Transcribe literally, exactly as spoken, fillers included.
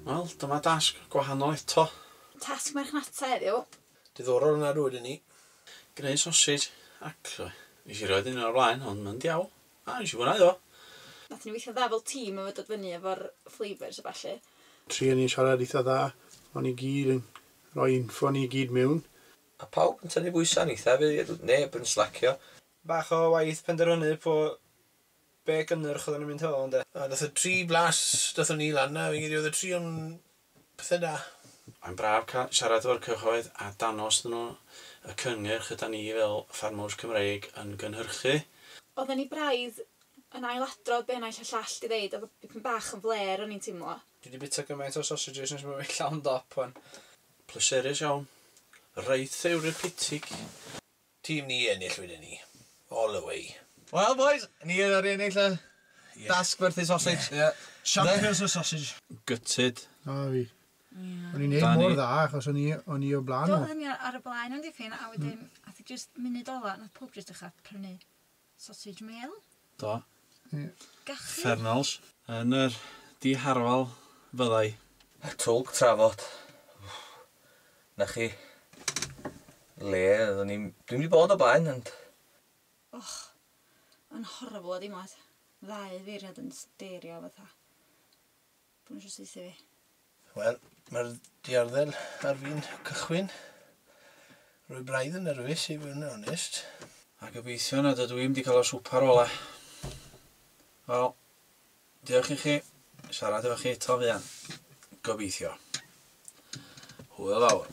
Wel, dyma dasg gwahanol eto. Tasg marchnata heddiw. Diddorol yna rwy'n ni. Gwneud sausage, actually. Nes i roed un o'r blaen, ond mae'n diawl. A, nes i fwynhau o. Nathon ni weithio dda fel tîm efo dod fyny efo'r flavours a ballu. Tri o'n ni'n siarad eitha dda. O'n i gyd yn rhoi info ni gyd mewn. A pawb yn tynnu bwysau'n eitha, fydd neb yn slacio. Bach o waith penderfynu po be gynnyrch oedden nhw'n mynd hefo, ynde. A nath y tri blas dathon ni lan na, fi'n credu oedd y tri o'n pethau da. Mae'n braf ca- siarad efo'r cyhoedd a danos nhw y cynnyrch yda ni fel ffarmwrs Cymreig yn gynhyrchu. Oedden ni braidd yn ailadrodd be naill a llall di ddeud, oedd dipyn bach yn fler o'n i'n teimlo. Dwi wedi bita gymaint o sausages nes mae fi llawn dop wan. Pleserus iawn. Reit therapeutic. Tîm ni ennill wedyn ni. All the way. Wel, boys, ni oedd ar ennill y dasg werthu sausage. Yeah. Champions of sausage. Gutted. Na fi. O'n i'n neud Danny. mor dda, achos o'n i, o'n i o blaen Do, nhw. oedden ni ar y blaen o'n dipyn, a wedyn, ath i just munud ola, nath pob just dechrau prynu sausage meal. Do. Ie. Gachu. Fernals. Yn yr diharfal fyddai. Twlc trafod. Na chi. Le, oedden ni. Dwi'n wedi bod o blaen, ond Och, yn horrible o deimlad. Ddau feirniad yn sterio fatha. Bod nhw eisiau saethu fi. Wel, mae'r diarddel ar fin cychwyn. Rwy braidd yn nerfus i fod yn onest. A gobeithio nad ydw i'n wedi cael y swpar ola. Wel, diolch i chi. Siarad efo chi eto fuan. Gobeithio. Hwyl fawr.